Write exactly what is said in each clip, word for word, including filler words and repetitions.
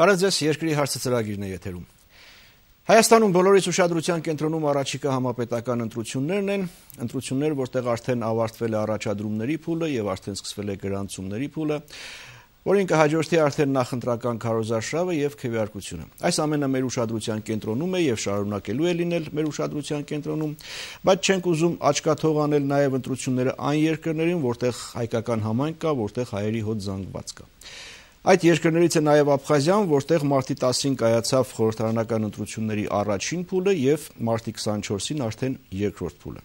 Բարև ձեզ, երկրի հարցը ծրագիրն է եթերում։ Հայաստանում բոլորից ուշադրության կենտրոնում առաջիկա համապետական ընտրություններն են, ընտրություններ, որտեղ արդեն ավարտվել է առաջադրումների փուլը եւ արդեն սկսվել է գրանցումների փուլը, որին կհաջորդի արդեն նախընտրական քարոզարշավը եւ քվեարկությունը։ Այս ամենը մեր ուշադրության կենտրոնում է եւ շարունակելու է լինել մեր ուշադրության կենտրոնում, բայց չենք ուզում աչքաթող անել նաեւ ընտրությունները այն երկրներին, որտեղ հայկական համայնք կա, որտեղ հայերի հոտ զանգված կա։ Այդ երկրներից է նաև Աբխազիան, որտեղ մարտի տասին կայացավ խորհրդարանական ընտրությունների առաջին փուլը եւ մարտի քսանչորսին արդեն երկրորդ փուլը։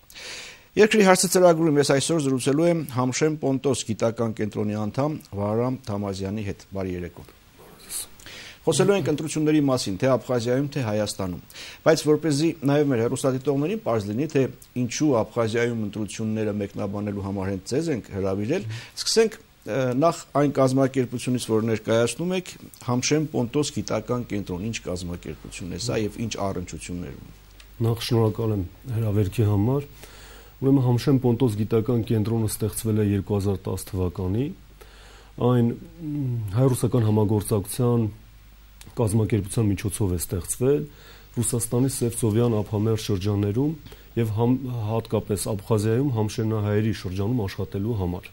Երկրի հարցը ծրագրում ես այսօր զրուցելու եմ Համշեն Պոնտոս գիտական կենտրոնի անդամ Վահրամ Թամազյանի հետ։ Բարի երեկո։ Խոսելու ենք ընտրությունների մասին, թե Աբխազիայում, թե Հայաստանում։ Բայց որպեսզի նաև մեր հեռուստադիտողներին պարզ լինի, թե ինչու Աբխազիայում ընտրությունները մեկնաբանելու համար հենց ձեզ ենք հրավիրել, սկսենք նախ այն կազմակերպությունից, որ ներկայացնում եք, Համշեն Պոնտոս գիտական կենտրոն, ինչ կազմակերպություն է սա եւ ինչ առնչություններ ունի։ Նախ շնորհակալ եմ հրավերքի համար։ Ուրեմն Համշեն Պոնտոս գիտական կենտրոնը ստեղծվել է երկու հազար տասը թվականին։ Այն հայ-ռուսական համագործակցության կազմակերպության միջոցով է ստեղծվել Ռուսաստանի Սևծովյան ափամերձ շրջաններում եւ հատկապես Աբխազիայում համշենահայերի շրջանում աշխատելու համար։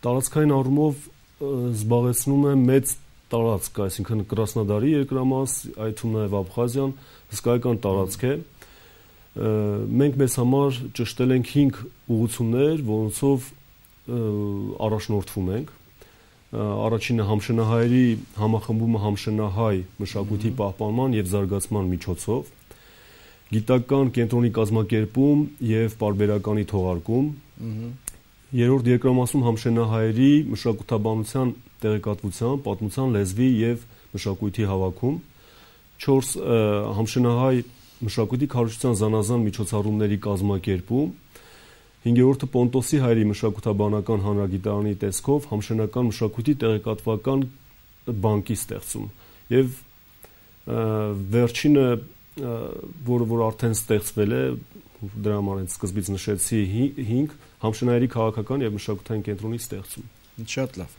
Տարածքային առումով զբաղեցնում է մեծ տարածք, այսինքն Կրասնոդարի երկրամաս, այդ թվում նաև Աբխազիան, հսկայական տարածք է։ Մենք մեզ համար ճշտել ենք հինգ ուղղություններ, որոնցով առաջնորդվում ենք։ Առաջինը համշենահայերի համախմբումը համշենահայ մշակույթի պահպանման եւ զարգացման միջոցով, գիտական կենտրոնի կազմակերպում եւ պարբերականի թողարկում, Երրորդ երկրամասում համշենահայերի մշակութաբանության տեղեկատվության, պատմության, լեզվի եւ մշակույթի հավաքում, չորս համշենահայ մշակույթի քարոզչության զանազան միջոցառումների կազմակերպում, հինգերորդը Պոնտոսի հայերի մշակութաբանական հանրագիտարանի տեսքով համշենական մշակույթի տեղեկատվական բանկի ստեղծում եւ վերջինը, որը որ արդեն ստեղծվել է, դրա համար սկզբից նշեցի հինգ Համշենահայերի քաղաքական եւ մշակութային կենտրոնի ստեղծում։ Շատ լավ։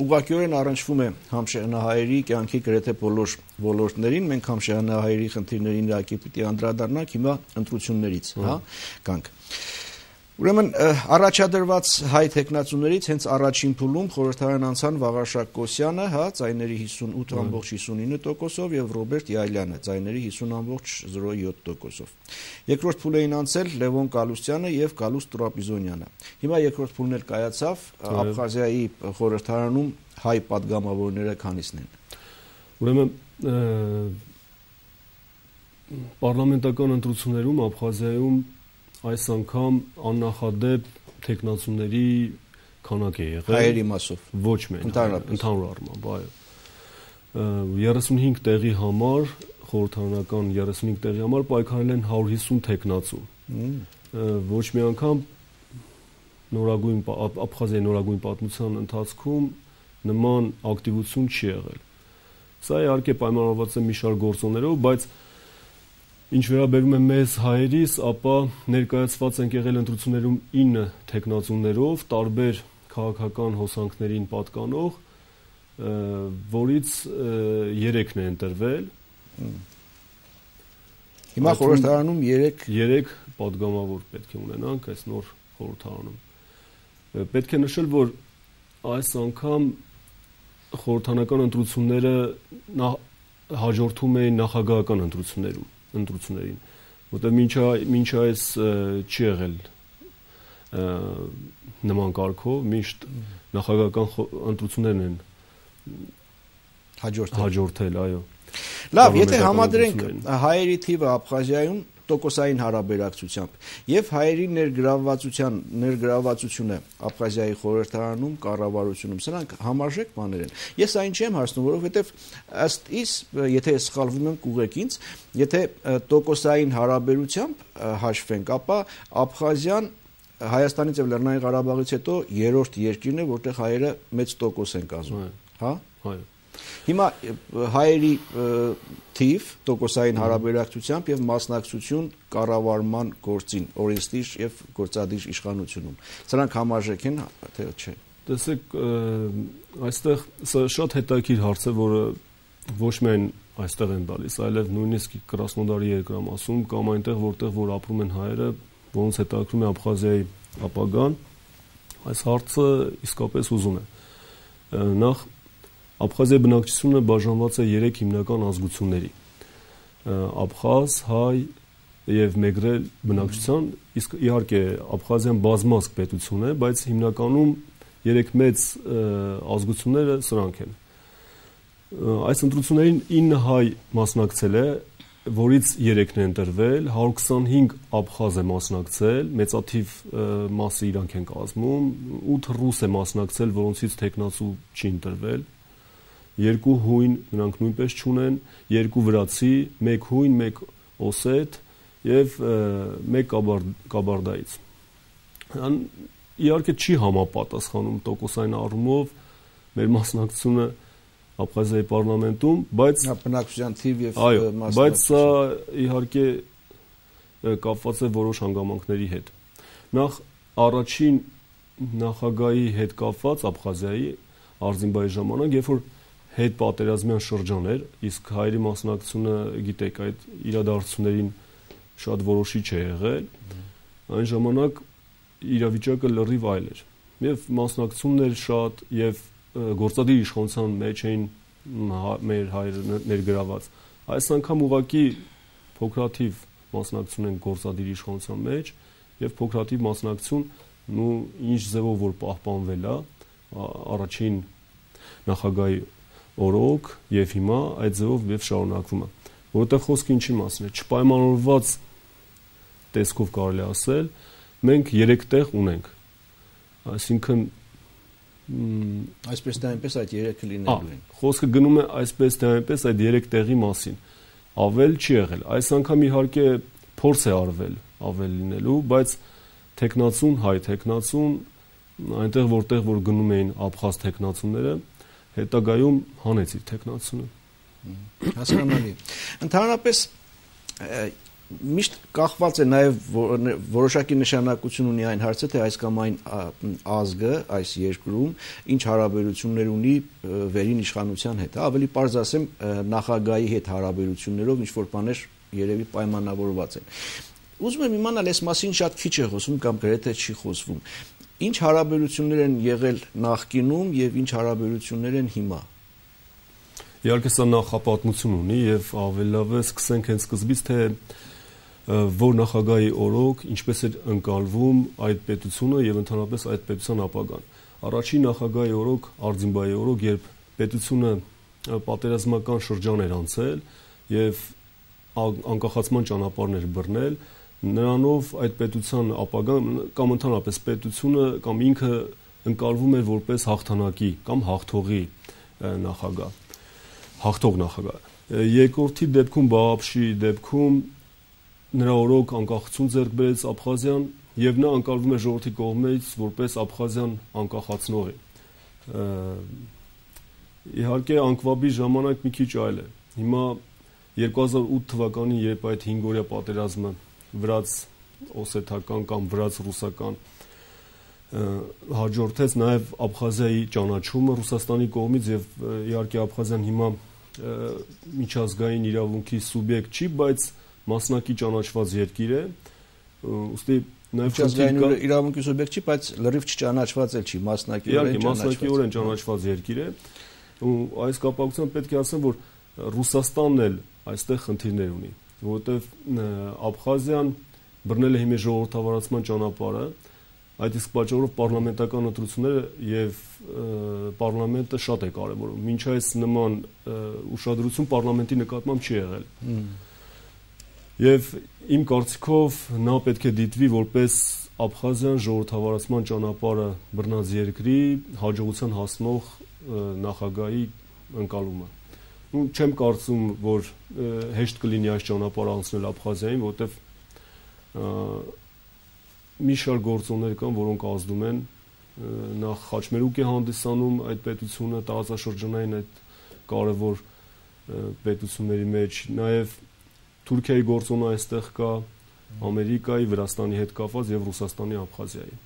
Ուղղակիորեն առնչվում է համշենահայերի կյանքի գրեթե բոլոր ոլորտներին, մենք համշենահայերի խնդիրներին իհարկե պիտի անդրադառնանք հիմա ընտրություններից, հա, կանք։ Ուրեմն առաջադրված հայ տեխնացուներից հենց առաջին փուլում խորհրդարան անցան Վաղարշակ Կոսյանը, հա, ձայների հիսունութ բացարձակ հիսունինը տոկոսով եւ Ռոբերտ Յայլյանը, ձայների հիսուն բացարձակ զրո յոթ տոկոսով։ Երկրորդ փուլին անցել Լևոն Կալուստյանը եւ Գալուստ Տրապիզոնյանը։ Հիմա երկրորդ փուլն էլ կայացավ, Աբխազիայի խորհրդարանում հայ падգամավորները քանիսն են։ Ուրեմն պարլամենտական ընտրություններում Աբխազիայում այս անգամ աննախադեպ տեխնացուների քանակ է եղել հայերի մասով ոչ միայն ընդհանուր առմամբ, այո երեսունհինգ տեղի համար խորհրդարանական երեսունհինգ տեղի համար պայքարել են հարյուր հիսուն տեխնացու ոչ մի անգամ նորագույն Աբխազիայի նորագույն պատմության ընթացքում նման ակտիվություն չի եղել սա իհարկե պայմանավորված է մի շարք գործոններով բայց Ինչ վերաբերում է մեզ հայերիս, ապա ներկայացված ենք եղել ընտրություններում ինը տեխնացուներով, տարբեր քաղաքական հոսանքներին պատկանող, որից երեքն է ընտրվել։ Հիմա խորհրդարանում երեք երեք падգամավոր պետք է ունենանք այս նոր խորհրդարանում։ Պետք է նշել, որ այս անգամ խորհրդարանական ընտրությունները հաջորդում էին նախագահական ընտրություններում։ ընտրություններին, որտեղ մինչ այս չի եղել նման կարգով, միշտ նախագահական ընտրություններն են հաջորդել, այո։ Լավ, եթե համադրենք հայերի թիվը Աբխազիայում տոկոսային հարաբերակցությամբ եւ հայերի ներգրավվածության ներգրավվածությունը Աբխազիայի խորհրդարանում, կառավարությունում, սրանք համարժեք բաներ են։ Ես այն չեմ հարցնում, որովհետեւ ըստ իս, եթե ես սխալվում եմ, կուղեք ինձ, եթե տոկոսային հարաբերությամբ հաշվենք, ապա Աբխազիան Հայաստանից եւ Լեռնային Ղարաբաղից հետո երրորդ երկիրն է, որտեղ հայերը մեծ տոկոս են կազմում, հա? Այո։ Հիմա հայերի թիվ տոկոսային հարաբերակցությամբ եւ մասնակցություն կառավարման գործին, օրենսդիր եւ գործադիր իշխանությունում։ Սրանք համարժեք են, թե չէ։ Տեսեք, այստեղ սա շատ հետաքրքիր հարց է, որը ոչ միայն այստեղ են տալիս, այլև նույնիսկ Կրասնոդարի երկրամասում կամ այնտեղ, որտեղ որ ապրում են հայերը, որոնց հետաքրքրում է Աբխազիայի ապագան, այս հարցը իսկապես ուզում է։ Նախ Աբխազիայի բնակչությունը բաժանված է երեք հիմնական ազգությունների՝ աբխազ, հայ եւ մեգրել բնակչության, իսկ իհարկե Աբխազիան բազմազգ պետություն է, բայց հիմնականում երեք մեծ ազգությունները սրանք են։ Այս ընտրություններին ինը հայ մասնակցել է, որից երեքն է ընտրվել, հարյուր քսանհինգ աբխազ է մասնակցել, մեծաթիվ մասը իրանք են կազմում, ութ ռուս է մասնակցել, որոնցից տեխնացու չի ընտրվել, երկու հույն նրանք նույնպես չունեն, երկու վրացի, մեկ հույն, մեկ օսետ եւ մեկ կաբարդայից։ Իհարկե չի համապատասխանում տոկոսային առումով մեր մասնակցությունը Աբխազիայի պարլամենտում, բայց բնակչության թիվ եւ մասնակցություն։ Բայց սա իհարկե կապված է որոշ հանգամանքների հետ։ Նախ առաջին նախագահի հետ կապված Աբխազիայի Արզինբայի ժամանակ, երբ որ հետ պատերազմյան շրջան էր, իսկ հայերի մասնակցությունը, գիտեք, այդ իրադարձություններին շատ որոշիչ է եղել, այն ժամանակ իրավիճակը լրիվ այլ էր։ Եվ մասնակցությունն էր շատ եւ գործադիր իշխանության մեջ էին մեր հայերը ներգրաված։ Այս անգամ ուղղակի փոքրաթիվ մասնակցություն են գործադիր իշխանության մեջ եւ փոքրաթիվ մասնակցություն ու ինչ ձևով որ պահպանվել է առաջին նախագահի օրոք եւ հիմա այդ ձևով եւ շարունակվում է, որովհետեւ խոսքը ինչի մասին է, չպայմանավորված տեսքով կարելի ասել, մենք երեք տեղ ունենք, այսինքն այսպես թե այնպես այդ երեքը լինելու են։ Խոսքը գնում է այսպես թե այնպես այդ երեք տեղի մասին, ավել չի եղել, այս անգամ իհարկե փորձ է արվել ավել լինելու, բայց տեխնացուն, հայ տեխնացուն, այնտեղ որտեղ որ գնում էին աբխազ տեխնացուները, հետագայում հանեց իր տեխնացությունը։ Հասկանալի։ Ընդհանրապես միշտ կախված է նաև որոշակի նշանակություն ունի այն հարցը, թե այս կամ այն ազգը այս երկրում ինչ հարաբերություններ ունի վերին իշխանության հետ, ավելի պարզ ասեմ նախագահի հետ հարաբերություններով ինչ որ բաներ երևի պայմանավորված են։ Ուզում եմ իմանալ, այս մասին շատ քիչ է խոսվում կամ գրեթե չի խոսվում։ Ինչ հարաբերություններ են եղել նախկինում եւ ինչ հարաբերություններ են հիմա։ Իհարկե սա նախապատմություն ունի եւ ավելի լավ է սկսենք հենց սկզբից, թե որ նախագահի օրոք ինչպես էր ընկալվում այդ պետությունը եւ ընդհանրապես այդ պետության ապագան։ Առաջին նախագահի օրոք, Արզինբայի օրոք, երբ պետությունը պատերազմական շրջան էր անցել եւ անկախացման ճանապարհներ բռնել, նրանով այդ պետության ապագան կամ ընդհանրապես պետությունը կամ ինքը ընկալվում էր որպես հաղթանակի կամ հաղթողի նախագահ, հաղթող նախագահ։ Երկրորդի դեպքում Բաղաբշի դեպքում նրա օրոք անկախություն ձեռք բերեց Աբխազիան եւ նա ընկալվում է ժողովրդի կողմից որպես Աբխազիան անկախացնողի։ Իհարկե անկվաբի ժամանակ մի քիչ այլ է։ Հիմա երկու հազար ութ թվականին, երբ այդ հինգօրյա պատերազմը վրաց օսեթական կամ վրաց ռուսական հաջորդեց նաև Աբխազիայի ճանաչումը Ռուսաստանի կողմից եւ իհարկե Աբխազիան հիմա միջազգային իրավունքի սուբյեկտ չի, բայց մասնակի ճանաչված երկիր է, ուստի նաև միջազգային իրավունքի սուբյեկտ չի, բայց լրիվ չճանաչված էլ չի, մասնակիորեն ճանաչված։ Մասնակիորեն ճանաչված երկիր է, ու այս կապակցությամբ պետք է ասեմ, որ Ռուսաստանն էլ այստեղ խնդիրներ ունի, որովհետև Աբխազիան բռնել է հիմա ժողովրդավարացման ճանապարհը, այդ իսկ պատճառով պարլամենտական ընտրությունները եւ պարլամենտը շատ է կարեւորում։ Մինչ այս նման ուշադրություն պարլամենտի նկատմամբ չի եղել։ Եվ իմ կարծիքով նա պետք է դիտվի որպես Աբխազիան ժողովրդավարացման ճանապարհը բռնած երկրի հաջողության հասնող նախագահի ընկալումը։ Ու չեմ կարծում, որ հեշտ կլինի այս ճանապարհը անցնել Աբխազիային, որովհետեւ մի շարք գործոններ կան, որոնք ազդում են, նախ խաչմերուկ է հանդիսանում այդ պետությունը, տարածաշրջանային այդ կարևոր պետությունների մեջ, նաև Թուրքիայի գործոնը այստեղ կա, Ամերիկայի, Վրաստանի հետ կապված եւ Ռուսաստանի Աբխազիայի։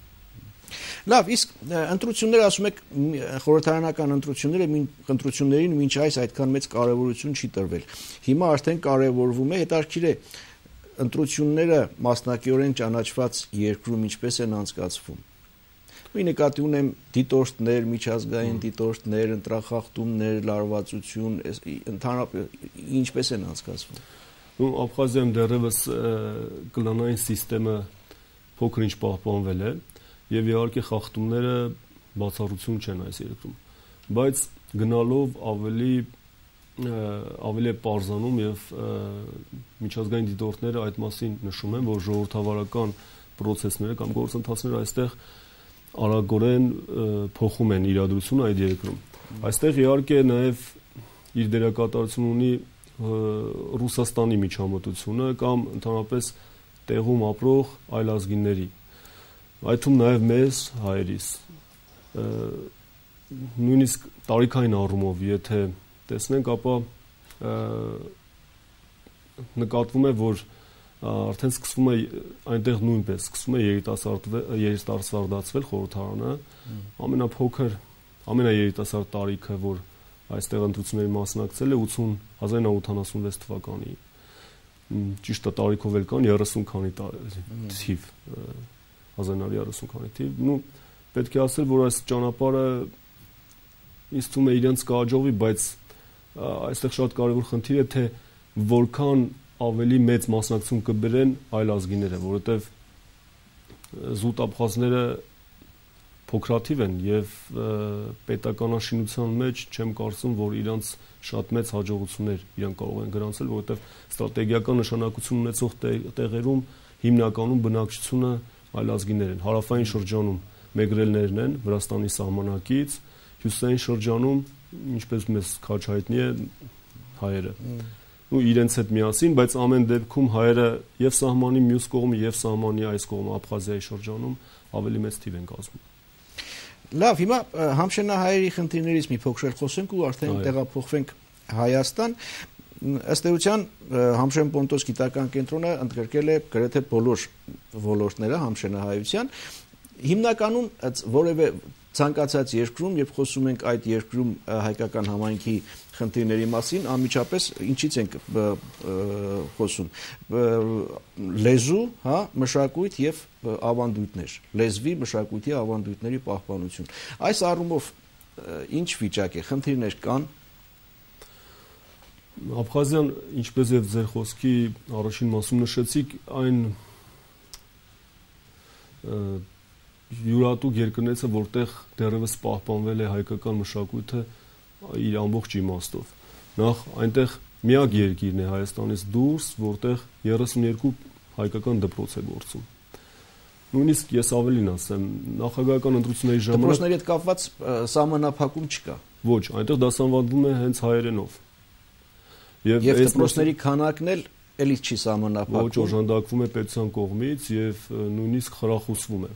Լավ, իսկ ընտրությունները, ասում եք, խորհրդարանական ընտրությունները ընտրություններին մինչ այս այդքան մեծ կարևորություն չի տրվել։ Հիմա արդեն կարևորվում է, հետաքրքիր է, ընտրությունները մասնակիորեն ճանաչված երկրում ինչպես են անցկացվում։ Մի նկատի ունեմ դիտորդներ, միջազգային դիտորդներ, ընտրախախտումներ, լարվածություն, ընդհանրապես ինչպես են անցկացվում։ Ու Աբխազիայում դեռևս կլանային համակարգը փոքր-ինչ պահպանվել է եւ իհարկե խախտումները բացառություն չեն այս երկրում, բայց գնալով ավելի ավելի պարզանում եւ միջազգային դիտորդները այդ մասին նշում են, որ ժողովրդավարական process-ները կամ գործընթացները այստեղ արագորեն փոխում են իրադրությունը այդ երկրում։ Այստեղ իհարկե նաեւ իր դերակատարություն ունի Ռուսաստանի միջամտությունը կամ ընդհանրապես տեղում ապրող այլ ազգիների, այդում նաև մեզ հայերիս, նույնիսկ տարիքային առումով, եթե տեսնենք, ապա նկատվում է, որ արդեն սկսվում է այնտեղ նույնպես սկսվում է երիտասարդացվել խորհրդարանը, ամենափոքր, ամենաերիտասարդ տարիքը, որ այստեղ ընտրությունների մասնակցել է հազար իննսուն ութանասունվեց թվականի, ճիշտ է տարիքով էլ կան երեսուն քանի թիվ, հազար իննսուն երեսուն քանի թիվ, նու պետք է ասել, որ այս ճանապարհը ինձ թվում է իրենց կհաջողվի, բայց այստեղ շատ կարևոր խնդիր է, թե որքան ավելի մեծ մասնակցություն կբերեն այլ ազգիները, որովհետև զուտ աբխազները փոքրաթիվ են եւ պետականաշինության մեջ չեմ կարծում, որ իրանց շատ մեծ հաջողություններ իրենք կարող են գրանցել, որովհետեւ ստրատեգիական նշանակություն ունեցող տեղերում հիմնականում բնակչությունը այլ ազգիներ են։ Հարավային շրջանում մեգրելներն են Վրաստանի սահմանակից, հյուսիսային շրջանում, ինչպես մեզ քաջ հայտնի է, հայերը։ Ու իրենց հետ միասին, բայց ամեն դեպքում հայերը եւ սահմանի մյուս կողմը եւ սահմանի այս կողմը Աբխազիայի շրջանում ավելի մեծ թիվ են կազմում։ Լավ, հիմա համշենահայերի խնդիրներից մի փոքր խոսենք ու արդեն տեղափոխվենք Հայաստան։ Ըստ էության Համշեն Պոնտոս գիտական կենտրոնը ընդգրկել է գրեթե բոլոր ոլորտները համշենահայության։ Հիմնականում որևէ ցանկացած երկրում, երբ խոսում ենք այդ երկրում հայկական համայնքի խնդիրների մասին, անմիջապես ինչից ենք խոսում, լեզու, հա, մշակույթ եւ ավանդույթներ, լեզվի, մշակույթի, ավանդույթների պահպանություն։ Այս առումով ինչ վիճակ է, խնդիրներ կան։ Աբխազիան, ինչպես եւ ձեր խոսքի առաջին մասում նշեցիք, այն յուրատուկ երկրներից է, որտեղ դեռևս պահպանվել է հայկական մշակույթը իր ամբողջ իմաստով։ Նախ այնտեղ միակ երկիրն է Հայաստանից դուրս, որտեղ երեսուն երկու հայկական դպրոց է գործում։ Նույնիսկ ես ավելին ասեմ, նախագահական ընտրությունների ժամանակ դպրոցների հետ կապված սահմանափակում չկա։ Ոչ, այնտեղ դասավանդվում է հենց հայերենով։ Եվ դպրոցների քանակն էլ էլի չի սահմանափակվում։ Ոչ, օժանդակվում է պետության կողմից եւ նույնիսկ խրախուսվում է։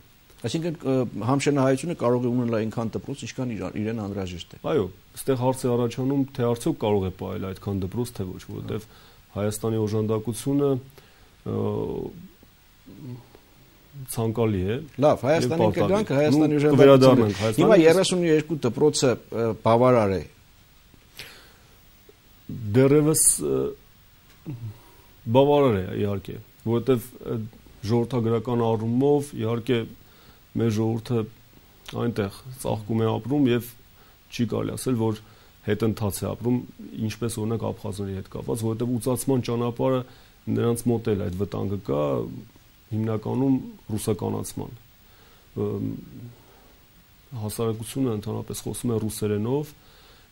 Այսինքն համշենահայությունը կարող է ունենալ այնքան դպրոց, ինչքան իրեն անհրաժեշտ է։ Այո, այստեղ հարց է առաջանում, թե արդյոք կարող է պահել այդքան դպրոց, թե ոչ, որովհետև Հայաստանի օժանդակությունը ցանկալի է։ Լավ, Հայաստանի կգանք, Հայաստանի օժանդակությունը։ Հիմա երեսուն երկու դպրոցը բավարար է։ Դեռևս բավարար է, իհարկե, որովհետև ժողովրդագրական առումով իհարկե մեր ժողովուրդը այնտեղ ծաղկում է ապրում եւ չի կարելի ասել, որ հետընթաց է ապրում, ինչպես օրինակ աբխազների հետ կապված, որովհետեւ ուծացման ճանապարհը նրանց մոտ էլ այդ վտանգը կա, հիմնականում ռուսականացման։ Հասարակությունը ընդհանրապես խոսում է ռուսերենով,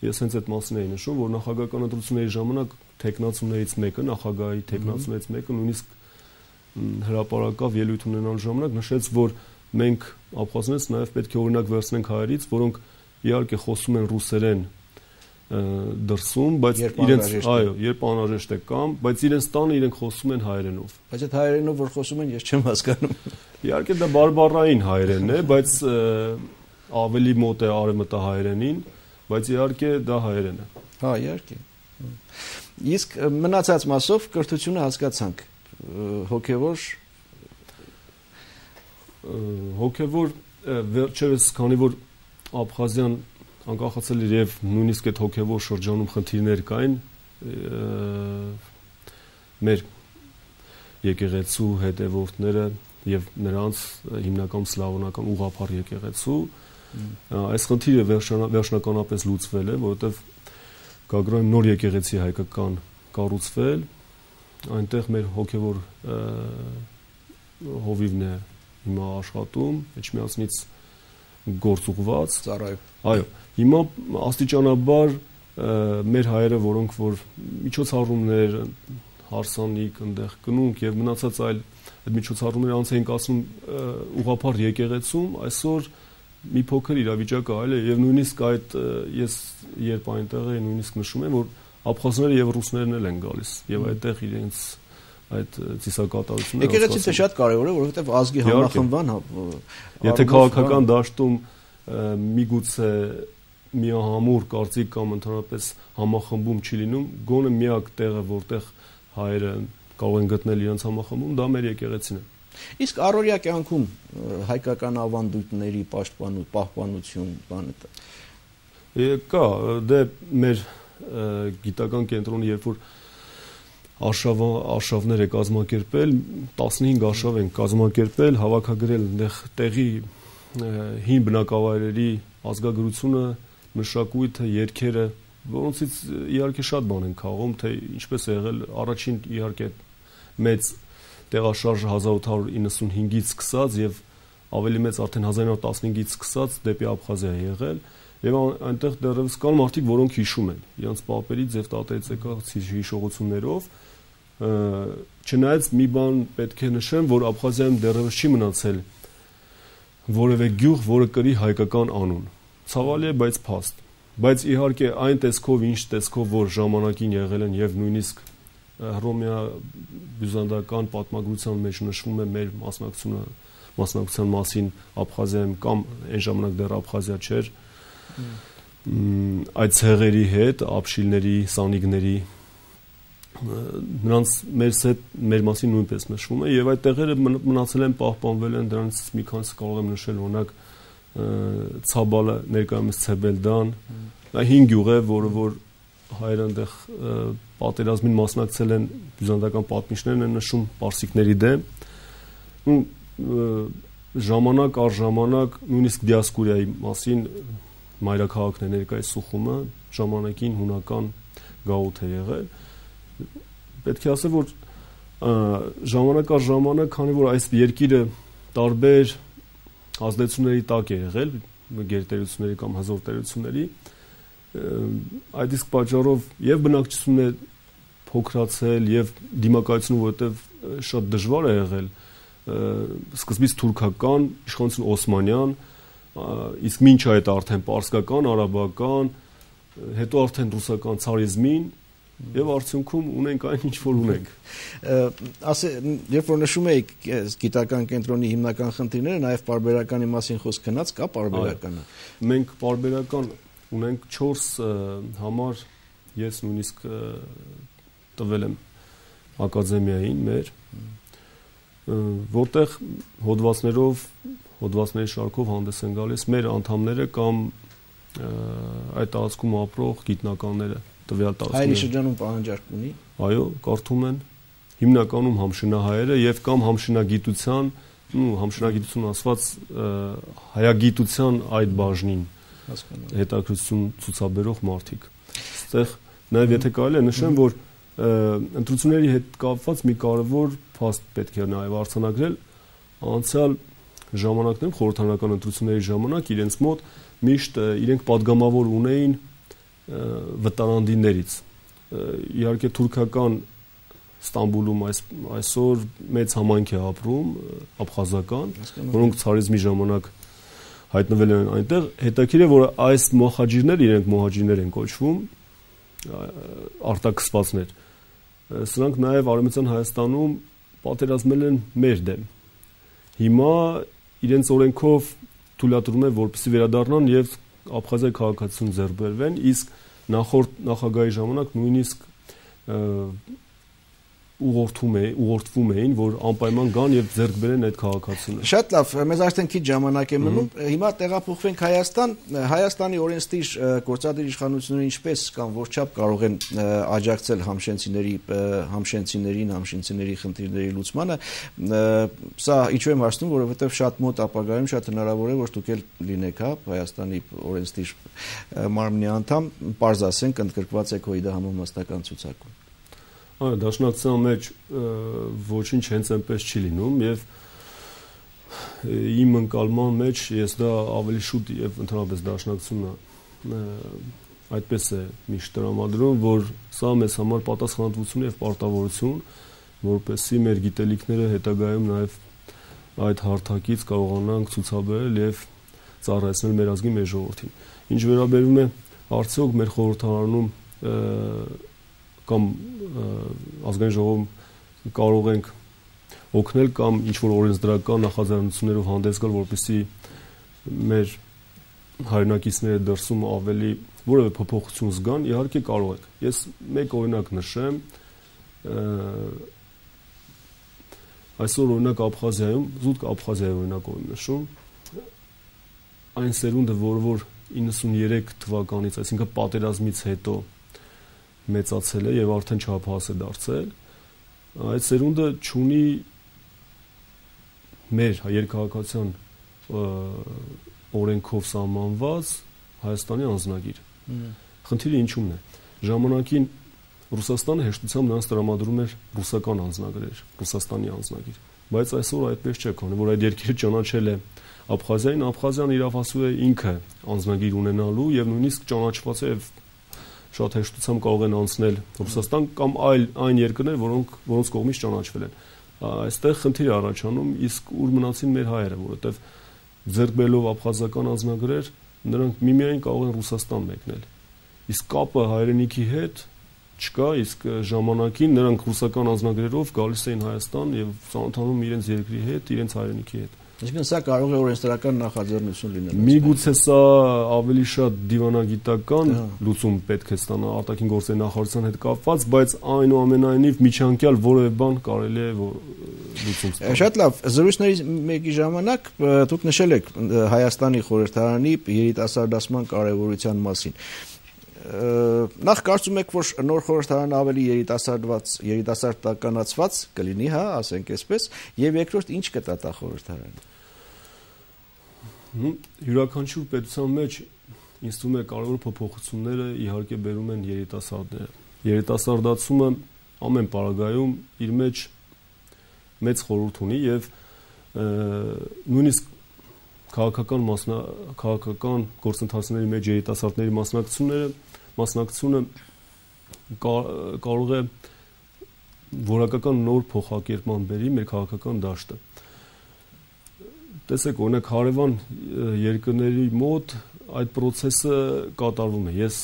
ես հենց այդ մասին էի նշում, որ նախագահական ընտրությունների ժամանակ տեխնացուներից մեկը, նախագահի տեխնացուներից մեկը նույնիսկ հրապարակավ ելույթ ունենալ ժամանակ նշեց, որ մենք աբխազներից նաև պետք է օրինակ վերցնենք հայերից, որոնք իհարկե խոսում են ռուսերեն դրսում, բայց իրենց, այո, երբ անհրաժեշտ է կամ, բայց իրենց տանը իրենք խոսում են հայերենով։ Բայց այդ հայերենով որ խոսում են, ես չեմ հասկանում։ Իհարկե դա բարբառային հայերենն է, բայց ավելի մոտ է արևմտահայերենին, բայց իհարկե դա հայերեն է։ Հա, իհարկե։ Իսկ մնացած մասով կրթությունը հասկացանք, հոգևոր հոգևոր վերջերս քանի որ Աբխազիան անկախացել էր եւ նույնիսկ այդ հոգեվոր շրջանում խնդիրներ կային մեր եկեղեցու հետևորդները եւ նրանց հիմնական սլավոնական ուղղափառ եկեղեցու այս խնդիրը վերջնականապես լուծվել է, որովհետեւ Գագրոյի նոր եկեղեցի հայկական կառուցվել, այնտեղ մեր հոգեվոր հովիվն է հիմա աշխատում, Էջմիածնից գործ ուղված ծառայում։ Այո, հիմա աստիճանաբար մեր հայերը, որոնք որ միջոցառումներ, հարսանիք, այնտեղ կնունք եւ մնացած այլ այդ միջոցառումները անց էին կացնում ուղղափառ եկեղեցում, այսօր մի փոքր իրավիճակը այլ է եւ նույնիսկ այդ ես երբ այնտեղ էի նույնիսկ նշում եմ, որ աբխազները եւ ռուսներն էլ են գալիս եւ այդտեղ իրենց այդ ծիսակատարությունները եկեղեցին շատ կարեւոր է, որովհետեւ ազգի համախմբան եթե քաղաքական դաշտում միգուցե միահամուռ կարծիք կամ ընդհանրապես համախմբում չի լինում, գոնե միակ տեղը, որտեղ հայերը կարող են գտնել իրենց համախմբում, դա մեր եկեղեցին է։ Իսկ առօրյա կյանքում հայկական ավանդույթների պաշտպանություն, պահպանություն, բանը կա, դե մեր գիտական կենտրոնը երբ որ արշավ արշավներ է կազմակերպել, տասնհինգ արշավ են կազմակերպել, հավաքագրել այնտեղ տեղի հին բնակավայրերի ազգագրությունը, մշակույթը, երգերը, որոնցից իհարկե շատ բան են քաղում, թե ինչպես է եղել առաջին իհարկե մեծ տեղաշարժը հազար ութ հարյուր իննսունհինգից սկսած եւ ավելի մեծ արդեն հազար ինը հարյուր տասնհինգից սկսած դեպի Աբխազիա է եղել եւ այնտեղ դեռևս կան մարդիկ, որոնք հիշում են իրենց պապերից եւ տատերից եկած հիշողություններով, չնայած մի բան պետք է նշեմ, որ Աբխազիայում դեռևս չի մնացել որևէ գյուղ, որը կրի հայկական անուն։ Ցավալի է, բայց փաստ։ Բայց իհարկե այն տեսքով, ինչ տեսքով որ ժամանակին եղել են եւ նույնիսկ Հռոմեա բյուզանդական պատմագրության մեջ նշվում է մեր մասնակցությունը մասնակցության մասին Աբխազիայում կամ այն ժամանակ դեռ Աբխազիա չէր այդ ցեղերի հետ, աբշիլների, սանիգների նրանց մեր հետ մեր մասին նույնպես նշվում է եւ այդ տեղերը մնացել են, պահպանվել են, դրանից մի քանիսը կարող եմ նշել, օրինակ Ցաբալը, ներկայումս Ցեբելդան, դա հինգ գյուղ է, որը որ հայերը այնտեղ պատերազմին մասնակցել են, բյուզանդական պատմիչներն են նշում պարսիկների դեմ։ Ու ժամանակ առ ժամանակ նույնիսկ դիասկուրիայի մասին մայրաքաղաքն է ներկայիս Սուխումը, ժամանակին հունական գաղութ է եղել։ Պետք է ասել, որ ժամանակ առ ժամանակ, քանի որ այս երկիրը տարբեր ազդեցությունների տակ է եղել, գերտերությունների կամ հզոր տերությունների, այդ իսկ պատճառով եւ բնակչությունն է փոքրացել եւ դիմակայությունը որովհետեւ շատ դժվար է եղել սկզբից թուրքական, իշխանություն օսմանյան, իսկ մինչ այդ արդեն պարսկական, արաբական, հետո արդեն ռուսական ցարիզմին եւ արդյունքում ունենք այն ինչ որ ունենք։ Ասե, երբ որ նշում եք գիտական կենտրոնի հիմնական խնդիրները, նաեւ պարբերականի մասին խոսք գնաց, կա պարբերականը։ Մենք պարբերական ունենք չորս համար, ես նույնիսկ տվել եմ ակադեմիային մեր, որտեղ հոդվածներով, հոդվածների շարքով հանդես են գալիս մեր անդամները կամ այդ տարածքում ապրող գիտնականները, տվյալ տարածքում։ Հայերի շրջանում պահանջարկ ունի։ Այո, կարդում են հիմնականում համշինահայերը եւ կամ համշինագիտության, ու համշինագիտություն ասված հայագիտության այդ բաժնին հետաքրքրություն ցուցաբերող մարդիկ։ Այստեղ նաև եթե կարելի է նշեմ, որ ընտրությունների հետ կապված մի կարևոր փաստ պետք է նաև արձանագրել, անցյալ ժամանակներում խորհրդարանական ընտրությունների ժամանակ իրենց մոտ միշտ իրենք падգամավոր ունեին վտարանդիներից։ Իհարկե թուրքական Ստամբուլում այս այսօր մեծ համայնք է ապրում, աբխազական, որոնք ցարիզմի ժամանակ հայտնվել են այնտեղ, հետաքրքիր է, որ այս մոհաջիրները, իրենք մոհաջիրներ են կոչվում, արտաքսվածներ։ Սրանք նաև Արևմտյան Հայաստանում պատերազմել են մեր դեմ։ Հիմա իրենց օրենքով թույլատրում է, որպեսզի վերադառնան եւ Աբխազիայի քաղաքացիություն ձեռք բերվեն, իսկ նախորդ նախագահի ժամանակ նույնիսկ ուղղորդում էին, ուղղորդվում էին, որ անպայման գան եւ ձեռք բերեն այդ քաղաքացիները։ Շատ լավ, մեզ արդեն քիչ ժամանակ է մնում։ Հիմա տեղափոխվենք Հայաստան։ Հայաստանի օրենսդիր գործադիր իշխանությունները ինչպես կամ որչափ կարող են աջակցել համշենցիների համշենցիներին, համշենցիների խնդիրների լուծմանը։ Սա ինչու եմ հարցնում, որովհետեւ շատ մոտ ապագայում շատ հնարավոր է, որ դուք էլ լինեք, հա, Հայաստանի օրենսդիր մարմնի անդամ, պարզ ասենք, ընդգրկված եք ՀՅԴ համամասնական ցուցակում։ Այո, դաշնակցության մեջ ոչինչ հենց այնպես չի լինում եւ իմ ընկալման մեջ ես դա ավելի շուտ եւ ընդհանրապես դաշնակցությունը այդպես է միշտ տրամադրում, որ սա մեզ համար պատասխանատվություն եւ պարտավորություն, որպեսզի մեր գիտելիքները հետագայում նաեւ այդ հարթակից կարողանանք ցուցաբերել եւ ծառայեցնել մեր ազգին, մեր ժողովրդին։ Ինչ վերաբերում է արդյոք մեր խորհրդարանում կամ ազգային ժողովում կարող ենք օգնել կամ ինչ-որ օրենսդրական նախաձեռնություններով հանդես գալ, որպեսզի մեր հայրենակիցները դրսում ավելի որևէ փոփոխություն զգան, իհարկե կարող ենք։ Ես մեկ օրինակ նշեմ, այսօր օրինակ Աբխազիայում, զուտ Աբխազիայի օրինակով եմ նշում, այն սերունդը, որը որ իննսուններեք թվականից, այսինքն պատերազմից հետո մեծացել է եւ արդեն չափահաս է դարձել, այդ սերունդը ունի մեր երկհաղաքացիան օրենքով սահմանված Հայաստանի անձնագիր։ Խնդիրը ինչու՞մն է։ Ժամանակին Ռուսաստանը հեշտությամբ նրանց տրամադրում էր ռուսական անձնագրեր, Ռուսաստանի անձնագիր, բայց այսօր այդպես չէ, քանի որ այդ երկիրը ճանաչել է Աբխազիային, Աբխազիան իրավասու է ինքը անձնագիր ունենալու եւ նույնիսկ ճանաչված է եւ շատ հեշտությամբ կարող են անցնել Ռուսաստան կամ այլ այն երկրներ, որոնք որոնց կողմից ճանաչվել են։ Այստեղ խնդիր է առաջանում, իսկ ուր մնացին մեր հայերը, որովհետև ձեռք բերելով աբխազական անձնագրեր, նրանք միմիայն կարող են Ռուսաստան մեկնել։ Իսկ կապը հայրենիքի հետ չկա, իսկ ժամանակին նրանք ռուսական անձնագրերով գալիս էին Հայաստան եւ ծանոթանում իրենց երկրի հետ, իրենց հայրենիքի հետ։ Այսինքն սա կարող է օրենսդրական նախաձեռնություն լինել։ Միգուցե սա ավելի շատ դիվանագիտական լուծում պետք է ստանա արտաքին գործերի նախարարության հետ կապված, բայց այնուամենայնիվ միջանկյալ որևէ բան կարելի է լուծում ստանալ։ Շատ լավ, զրույցների մեկի ժամանակ դուք նշել եք Հայաստանի խորհրդարանի երիտասարդացման կարևորության մասին։ Նախ կարծում եք, որ նոր խորհրդարանը ավելի երիտասարդված, երիտասարդականացված կլինի, հա, ասենք այսպես, եւ երկրորդ ինչ կտա խորհրդարանը։ Յուրաքանչյուր պետության մեջ ինձ թվում է կարևոր փոփոխությունները իհարկե բերում են երիտասարդները։ Երիտասարդացումը ամեն պարագայում իր մեջ մեծ խորհուրդ ունի եւ նույնիսկ քաղաքական մասնա քաղաքական գործընթացների մեջ երիտասարդների մասնակցությունները մասնակցությունը կարող է որակական նոր փոխակերպման բերի մեր քաղաքական դաշտը։ Տեսեք, օրինակ հարևան երկրների մոտ այդ process-ը կատարվում է։ Ես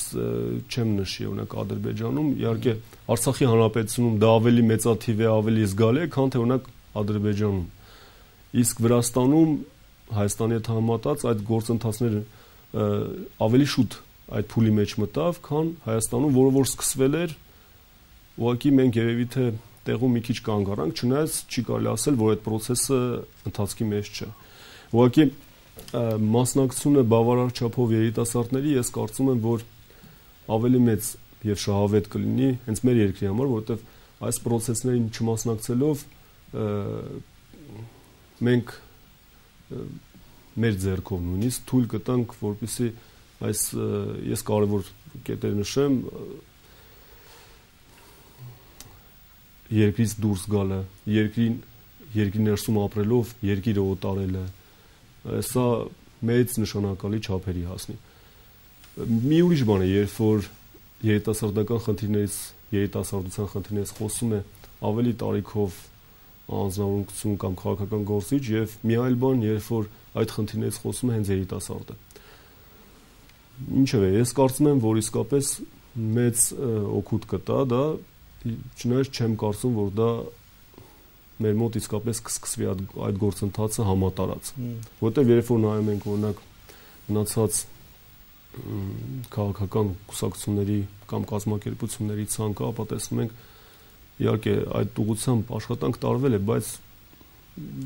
չեմ նշի օրինակ Ադրբեջանում, իհարկե Արցախի հանրապետությունում դա ավելի մեծաթիվ է, ավելի զգալի է, քան թե օրինակ Ադրբեջանում։ Իսկ Վրաստանում Հայաստանի հետ համեմատած այդ գործընթացները ավելի շուտ այդ փուլի մեջ մտավ, քան Հայաստանում, որը որ սկսվել էր, ուղղակի մենք երևի թե տեղում մի քիչ կանգ առանք, չնայած չի կարելի ասել, որ այդ process-ը ընթացքի մեջ չէ։ Ուղղակի մասնակցությունը բավարար չափով երիտասարդների, ես կարծում եմ, որ ավելի մեծ եւ շահավետ կլինի հենց մեր երկրի համար, որովհետեւ այս process-ներին չմասնակցելով մենք մեր ձեռքով նույնիսկ թույլ կտանք, որպեսզի այս ես կարևոր կետեր նշեմ, երկրից դուրս գալը, երկրին երկրի ներսում ապրելով երկիրը օտարելը, սա մեծ նշանակալի չափերի հասնի։ Մի ուրիշ բան է, երբ որ երիտասարդական խնդիրներից, երիտասարդության խնդիրներից խոսում է ավելի տարիքով անձնավորություն կամ քաղաքական գործիչ եւ մի այլ բան, երբ որ այդ խնդիրներից խոսում է հենց երիտասարդը։ Ինչևէ, ես կարծում եմ, որ իսկապես մեծ օգուտ կտա դա, չնայած չեմ կարծում, որ դա մեր մոտ իսկապես կսկսվի այդ գործընթացը համատարած։ Որտեղ երբ որ նայում ենք օրինակ մնացած քաղաքական կուսակցությունների կամ կազմակերպությունների ցանկը, ապա տեսնում ենք Իհարկե այդ ուղղությամբ աշխատանք տարվել է, բայց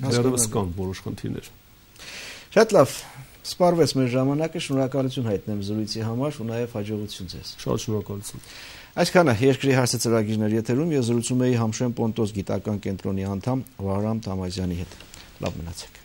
դեռևս կան որոշ խնդիրներ։ Շատ լավ, սպառվեց մեր ժամանակը, շնորհակալություն հայտնեմ զրույցի համար ու նաև հաջողություն ձեզ։ Շատ շնորհակալություն։ Այսքանը երկրի հարցը ծրագիրներ եթերում ես զրուցում էի Համշեն Պոնտոս գիտական կենտրոնի անդամ Վահրամ Թամազյանի հետ։ Լավ մնացեք։